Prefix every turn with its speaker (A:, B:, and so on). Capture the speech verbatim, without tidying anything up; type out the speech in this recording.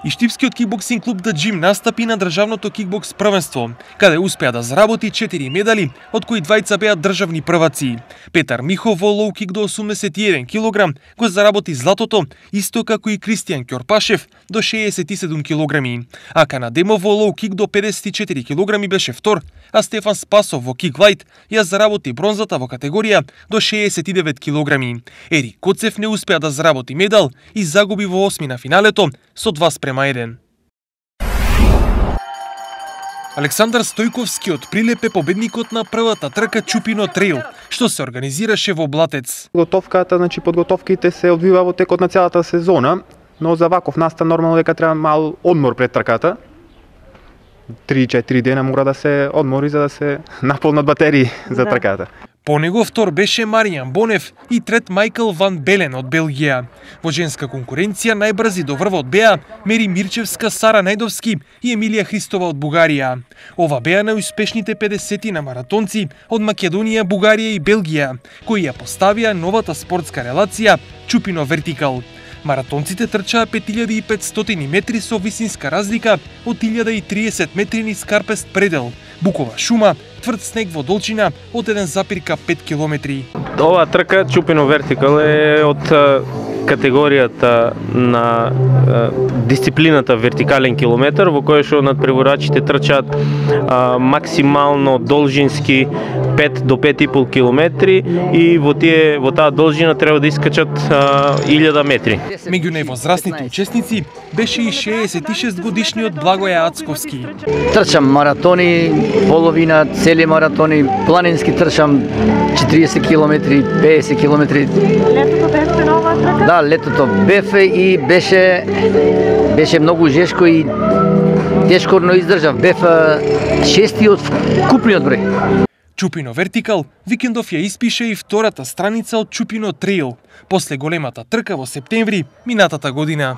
A: И Штипскиот кикбоксинг клуб Да Джим настапи на државното кикбокс првенство, каде успеа да заработи четири медали, од кои двајца беа државни прваци. Петар Михов во лоу кик до осумдесет и еден килограм го заработи златото, исто како и Кристијан Ќорпашев до шеесет и седум килограми. А Канадемов во лоу кик до педесет и четири килограми беше втор, а Стефан Спасов во кик лајт ја заработи бронзата во категорија до шеесет и девет килограми. Ерик Коцев не успеа да заработи медал и загуби во осми на финалето со два спрема еден. Александар Стојковскиот прилепе победникот на првата трка Чупино треил, што се организираше во Блатец.
B: Готовката, значи подготовките се одвива во текот на целата сезона, но за ваков настан нормално дека треба мал одмор пред трката. три-четири дена мора да се одмори за да се наполнат батерии за трката.
A: По него втор беше Маријан Бонев и трет Мајкл Ван Белен од Белгија. Во женска конкуренција најбрзи до врвот беа Мери Мирчевска, Сара Најдовски и Емилија Христова од Бугарија. Ова беа најуспешните педесети на маратонци од Македонија, Бугарија и Белгија, кои ја поставија новата спортска релација Чупино вертикал. Маратонците трчаа пет илјади и петстотини метри со висинска разлика од илјада и триесет метри низ карпест предел, букова шума, тврд снег во долчина од еден запир пет километри.
C: Оваа трка Чупино вертикал е од категоријата на дисциплината вертикален километар, во која што надпреварачите трчаат а, максимално должински пет до пет и пол километри и во тие во таа должина треба да искачат а, илјада метри.
A: Меѓу највозрастните учесници беше и шеесет и шест годишниот Благоја Ацковски.
D: Трчам маратони, половина, цели маратони, планински трчам четириесет километри, педесет километри.
E: Летото бевте на оваа трка?
D: Да, летото бев и беше беше многу жешко и тешко, но издржав. Бев шести од купниот број.
A: Чупино вертикал викендов ја испише и втората страница од Чупино треил, после големата трка во септември минатата година.